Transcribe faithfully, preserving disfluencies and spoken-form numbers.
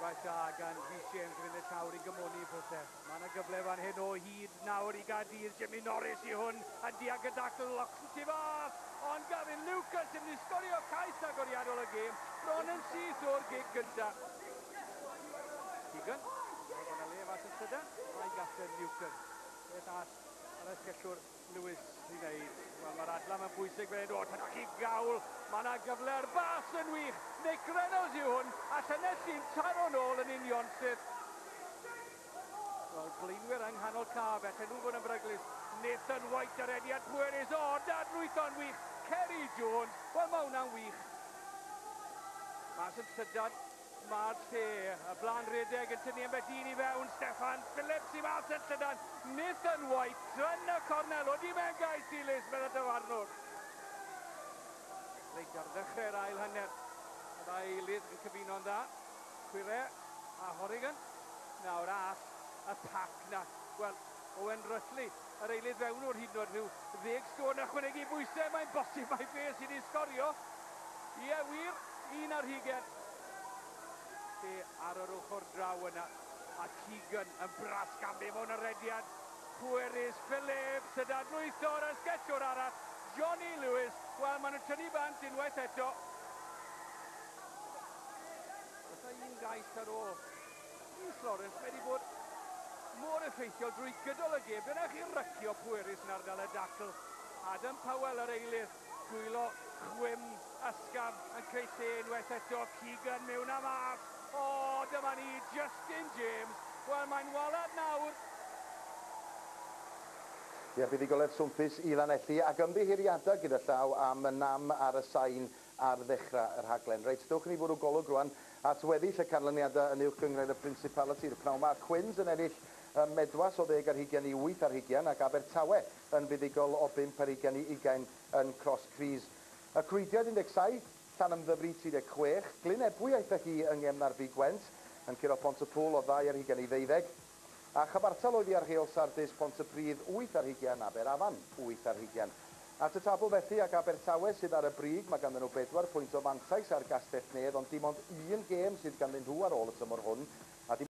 Rheolaeth da gan Rhys James yn fynd y llawr i gymoni pethau. Mae yna gyfle fan hyn o hyd nawr i Gaerdydd. Jimmy Norris i hwn a diag y dacl Loxton tu fas. Ond Gavin Lucas yn mynd i sgorio cais agoriadol y gêm. Bron yn syth o'r gic gyntaf. Keegan. Mae yna le mas yn llydan. Mae gapten Newton. Beth all yr asgellwr Lewis i wneud? Wel, mae'r adlam yn bwysig fel hyn. O, dyna chi gawl. Mae yna gyfle ar bas yn wych. Nick Reynolds yw hwn. A Llanelli'n taro nôl yn union syth. Wel, blaenwyr yng nghanol cae, felly nhw fod yn beryglus. Nathan White ar rediad pwerus. O, dadlwytho'n wych. Kerry Jones. Wel, mae hwnna'n wych. Mas yn llydan, mae'r lle. Y blaen redeg yn tynnu ambell un i fewn. Steffan Phillips i mas yn llydan. Nathan White yn y cornel. Odi mewn gais dilys, meddai dyfarnwr. Reit ar ddechrau'r ail hanner. Y ddau eilydd yn cyfuno'n dda. Quire a Horrigan. Nawr all y pac na. Wel, Owen Rutley, yr eilydd fewnwr hyd yn oed rhyw ddeg stôn ychwanegu bwysau. Mae'n bosib mai fe sydd wedi sgorio. Ie, wir, un ar hugen. Lle ar yr ochr draw yna. A Keegan yn brasgamu mewn y rediad. Pwerus Phillips, y dadlwytho'r asgellwr arall. Johnny Lewis. Wel, maen nhw'n tynnu bant unwaith eto. Oes un gais ar ôl. Rhys Lawrence, mae wedi bod mor effeithiol drwy gydol y gêm. Dyna chi rycio pwerus yn ardal y dacl. Adam Powell yr eilydd. Dwylo chwim ysgafn yn creu lle unwaith eto. Keegan mewn a mas. O, dyma ni, Justin James. Wel, mae'n walad nawr. Ie, buddugoliaeth swmpus i Lanelli ac ymddiheuriadau gyda llaw am y nam ar y sain ar ddechrau y rhaglen. Reit, dewch i ni fwrw golwg rwan at weddill y canlyniadau yn uwch gynghrair y Principality. Y pnawn 'ma, Quins yn ennill ym Medwas o ddeg ar hugain i wyth ar hugain ac Abertawe yn fuddugol o bump ar hugain i ugain yn Cross Keys. Y Clwydiaid un deg saith, Llanymddyfri tri deg chwech, Glyn Ebwy aeth â hi yng ngem ddarbi Gwent yn curo Pont-y-pŵl o ddau ar hugain i ddeuddeg. A chyfartal oedd hi ar Heol Sardis, Pontypridd wyth ar hugain, Aberafan wyth ar hugain. At y tabl felly ac Abertawe sydd ar y brig, mae ganddyn nhw bedwar pwynt o fantais ar Gastell Nedd, ond dim ond un gêm sydd ganddyn nhw ar ôl y tymor hwn. A dim